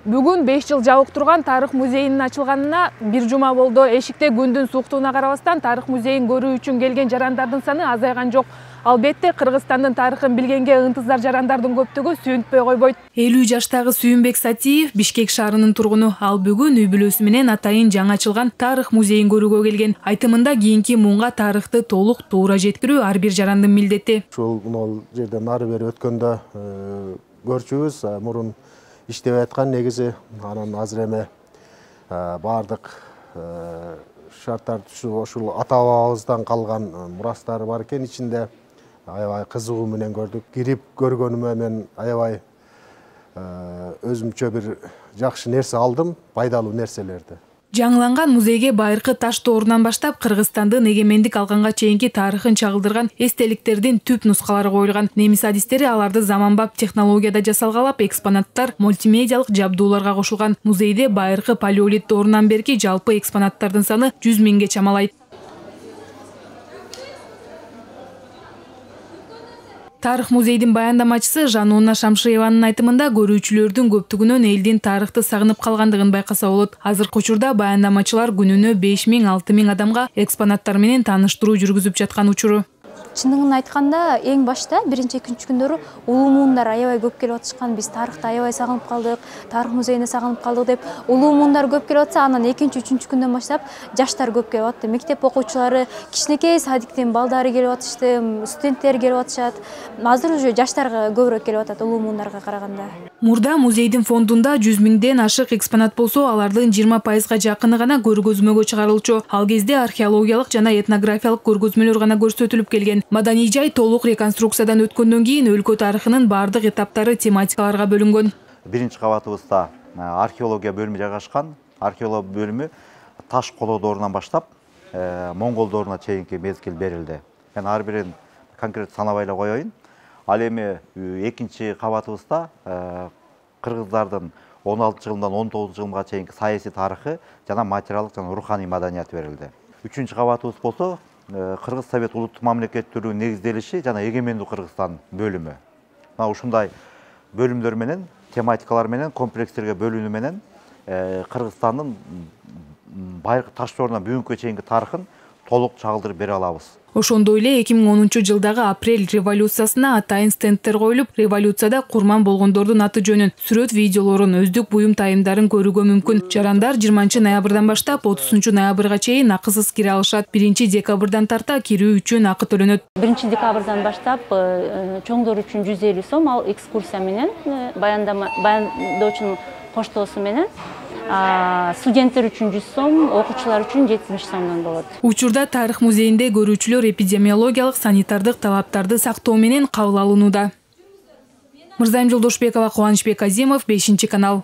Бүгүн 5 жыл жабык турган тарых музейинин ачылганына бир жума болду. Эшикте күндүн сууктугуна карабастан тарых музейин көрүү үчүн келген жарандардын саны азайган жок. Албетте, Кыргызстандын тарыхын билгенге ынтызар жарандардын көптүгү сүйүнтпөй койбойт. 50 жаштагы Сүйүнбек Сатиев Бишкек шаарынын тургуну. Ал бүгүн үй бүлөсү менен атайын жаңы ачылган тарых музейин көрүүгө келген. Айтымында кийинки муунга тарыхты толук туура жеткирүү ар бир жарандын милдети. Ушул жерден нары бери өткөндө көрчүбүз. Мурун иштеп аткан негизи анан азыр эме баардык шарттар ушул ата бабабыздан калган мурастары бар экен. Ичинде аябай кызыгуу менен көрдүк. Кирип көргөнүмө мен аябай өзүмчө бир жакшы нерсе алдым, пайдалуу нерселерди. Жаңыланган музейге байыркы таш доорунан баштап Кыргызстандын эгемендик алганга чейинки тарыхын чагылдырган эстеликтердин түп нускалары коюлган. Немис адистери аларды заманбап технологияда жасалгалап, экспонаттар мультимедиалык жабдууларга кошулган. Музейде байыркы палеолит доорунан берки жалпы экспонаттардын саны 100 000ге чамалайт. Тарых музейдин баяндамачысы Жануна Шамшиеванын айтымында көрүүчүлөрдүн көптүгүнөн элдин тарыхты сагынып калгандыгын байкаса болот. Азыркы учурда баяндамачылар күнүнө 5 000 – 6 000 адамга экспонаттар менен тааныштыруу жүргүзүп жаткан учуру. Чындыгын айтканда, эң башта биринчи экинчи күндөрү улуу муундар аябай көп келип атышкан. Биз тарыхты аябай сагынып калдык, тарых музейине сагынып калдык деп улуу муундар көп келип атса, анан экинчи, үчүнчү күндөн баштап жаштар көп келип атты. Мектеп окуучулары, кичинекей садиктин балдары келип атышты, студенттер келип атышат. Азыр уже жаштарга көбүрөөк келип атат улуу муундарга караганда. Мурда музейдин фондунда 100 000ден ашык экспонат болсо, алардын 20%га жакыны гана көргөзмөгө чыгарылчу. Ал кезде археологиялык жана этнографиялык көргөзмөлөр гана көрсөтүлүп келген. Маданий жай толук реконструкциядан өткөндөн кийин өлкө тарыхынын бардык этаптары тематикаларга бөлүнгөн. Биринчи кабатыбызда археология бөлүмү жайгашкан. Археология бөлүмү таш колоо доорунан баштап Моңгол дооруна чейинки мезгил берилди. Мен ар бирин конкрет санабай эле коеюн. Ал эми экинчи кабатыбызда кыргыздардын 16 жылынан 19 жылга чейинки саясий тарыхы жана материалдык жана руханий маданияты берилди. Үчүнчү кабатыбыз болсо Кыргыз Совет улуттук мамлекеттүүлүгүнүн негизделиши жана эгемендүү Кыргызстан бөлүмү. Мына ушундай бөлүмдөр менен, тематикалар менен, комплекстерге бөлүнүү менен Кыргызстандын байыркы таш доорунан бүгүнкү чейинки тарыхын толук чагылдырып бере алабыз. Ошондой эле 2010-жылдагы апрель революциясына атайын стендтер коюлуп, революцияда курман болгондордун аты жөнүн, сүрөт видеолорун, өздүк буюм тайымдарын көрүүгө мүмкүн. Жарандар 20-ноябрдан баштап 30-ноябрга чейин акысыз кире алышат. 1-декабрдан тарта кирүү үчүн акы төлөнөт. 1-декабрдан баштап чоңдор үчүн 150 сом, ал экскурсия менен, баяндоочунун коштоосу менен. Студенттер үчүн 100 сом, окуучулар үчүн 70 сомдон болот. Учурда тарых музейинде көрүүчүлөр эпидемиологиялык, санитардык талаптарды сактоо менен кабыл алынууда. Мырзайым Жолдошбекова, Кубанычбек Азимов, 5-канал.